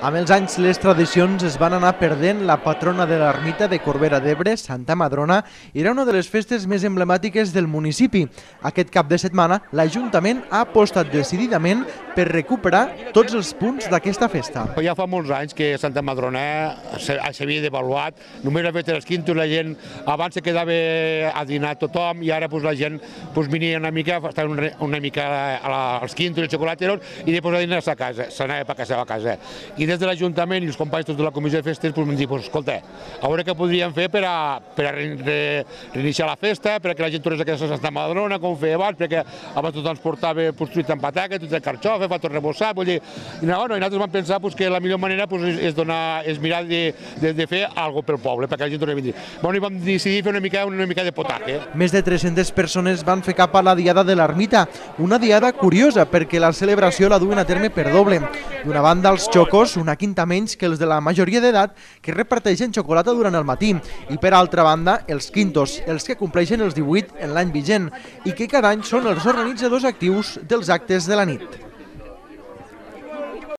Amb els anys, les tradicions es van anar perdent. La patrona de l'ermita de Corbera d'Ebre, Santa Madrona, era una de les festes més emblemàtiques del municipi. Aquest cap de setmana, l'Ajuntament ha apostat decididament per recuperar tots els punts d'aquesta festa. Ja fa molts anys que Santa Madrona s'havia devaluat, només ha fet els quintos, la gent abans se quedava a dinar tothom i ara la gent venia una mica, estava una mica als quintos, als xocolateros i després a dinar a casa, s'anava per a casa. I des de l'Ajuntament i els companys tots de la Comissió de Festes vam dir, escolta, a veure què podríem fer per a reiniciar la festa, perquè la gent tornés a casa a Santa Madrona, com feia abans, perquè abans tothom ens portava fruit amb pataca, tot el carxofa, fa tot rebossat, vull dir, i nosaltres vam pensar que la millor manera és mirar de fer alguna cosa pel poble, perquè la gent torni a venir. I vam decidir fer una mica de potaje. Més de 300 persones van fer cap a la diada de l'ermita, una diada curiosa perquè la celebració la duen a terme per doble. D'una banda, els xocos, una quinta menys que els de la majoria d'edat, que reparteixen xocolata durant el matí, i per altra banda, els quintos, els que compleixen els 18 en l'any vigent, i que cada any són els organitzadors actius dels actes de la nit.